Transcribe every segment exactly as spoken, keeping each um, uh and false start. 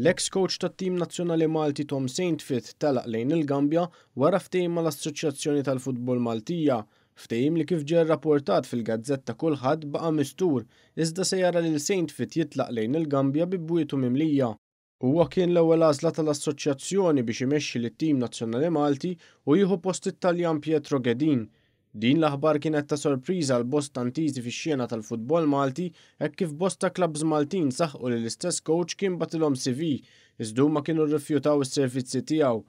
L-ex coach tat-tim nazzjonali Malti Tom Saintfiet telaq lejn il-Gambja wara ftehim mal-Assoċjazzjoni tal-Futbol Maltija, ftehim li kif ġie rrapportat fil-gazzetta Kulħadd baqa' mistur, iżda se jara lil Saintfiet jitlaq lejn il-Gambja bi bwietu mimlija. Huwa kien l-ewwel għażla tal-assoċjazzjoni biex imexxi lit-tim nazzjonali Malti u jieħu post it-Taljan Pietro Ghedin. Din l-aħbar kienet ta' sorpriża għal bosta intiżi fix-xena tal-futbol Malti hekk kif bosta klabbs Maltin saħqu li l-istess coach kien bagħtilhom C V iżda huma kienu rrifjutaw is-servizzi tiegħu.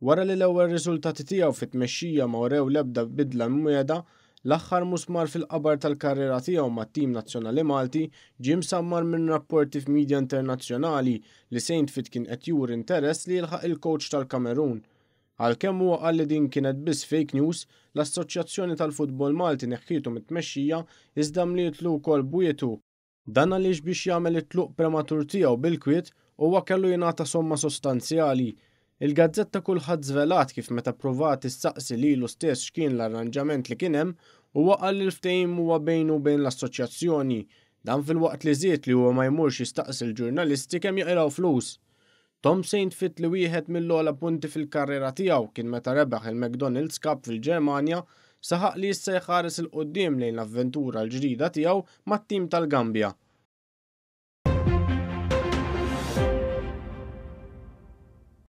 Wara li l-ewwel riżultati tiegħu fit-tmexxija ma wrew l-ebda bidla mwiegħda, l-aħħar musmar fil-qabar tal-karriera tiegħu mat-tim nazzjonali Malti ġie msammar minn rapporti f'media internazzjonali li Saintfiet kien qed juri interess li jilħaq il-coach tal-Kamerun. Għalkemm huwa qal li din kienet biss fake news, l-Assoċjazzjoni tal-Futbol Malti neħħietu mit-tmexxija iżda mlietlu wkoll bwietu. Dan għaliex biex jagħmel it-tluq prematur tiegħu bil-kwiet huwa kellu jingħata somma sostanzjali. Il-gazzetta Kulħadd żvelat kif meta provat issaqsi lilu stess x'kien l-arranġament li kien hemm, huwa qal li l-ftehim huwa bejnu u bejn l-assoċjazzjoni. Dan filwaqt li żied li huwa ma jmurx jistaqsi l-ġurnalisti kemm jaqilgħu flus. Tom Saintfiet, li wieħed mill-ogħla punti fil-karriera tiegħu kien meta rebaħ il-McDonald's Cup fil-Ġermanja, saħaq li issa jħares 'il quddiem lejn l-avventura l-ġdida tiegħu mat-tim tal-Gambja.